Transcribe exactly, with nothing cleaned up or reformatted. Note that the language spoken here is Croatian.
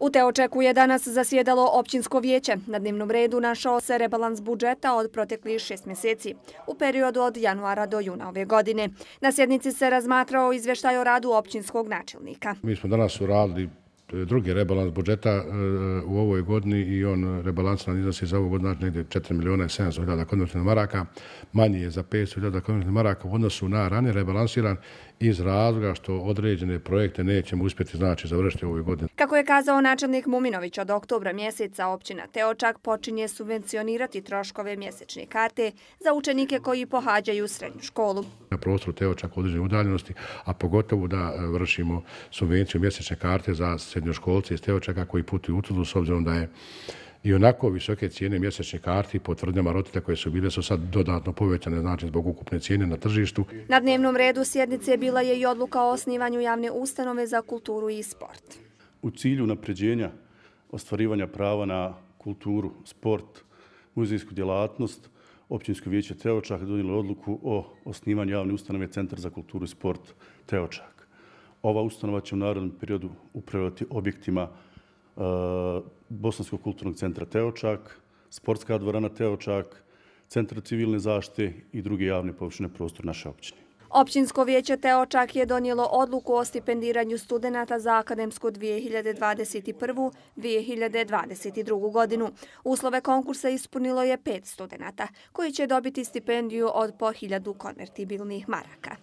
U Teočaku je danas zasjedalo općinsko vijeće. Na dnevnom redu našao se rebalans budžeta od proteklih šest mjeseci, u periodu od januara do juna ove godine. Na sjednici se razmatrao izvještaj o radu općinskog načelnika. Mi smo danas uradili drugi rebalans budžeta u ovoj godini i on rebalans nam iznosi za ovu godinu negdje četiri milijuna i sedamsto hiljada konvertnih maraka. Manji je za petsto hiljada konvertnih maraka u odnosu na ranije rebalansiran iz razloga što određene projekte nećemo uspjeti znači završiti u ovoj godini. Kako je kazao načelnik Muminović, od oktobra mjeseca općina Teočak počinje subvencionirati troškove mjesečne karte za učenike koji pohađaju srednju školu. Na prostoru Teočaka određene udaljenosti, a pogotovo da vršimo subvenciju mjesečne karte za srednjoškolce iz Teočaka koji putuju u Tuzlu, s obzirom da je i onako visoke cijene mjesečne karti po tvrdnjama roditelja koje su bile su sad dodatno povećane, znači zbog ukupne cijene na tržištu. Na dnevnom redu sjednice bila je i odluka o osnivanju javne ustanove za kulturu i sport. U cilju napređenja ostvarivanja prava na kulturu, sport, muzejsku djelatnost, Općinsko vijeće Teočak donijelo odluku o osnivanju javne ustanove Centar za kulturu i sport Teočak. Ova ustanova će u narednom periodu upravljati objektima Bosanskog kulturnog centra Teočak, sportska dvorana Teočak, centar civilne zaštite i druge javne površine prostora naše općine. Općinsko vijeće Teočak je donijelo odluku o stipendiranju studenata za akademsku dvije hiljade dvadeset prvu dvije hiljade dvadeset drugu godinu. Uslove konkursa ispunilo je pet studenata koji će dobiti stipendiju od po hiljadu konvertibilnih maraka.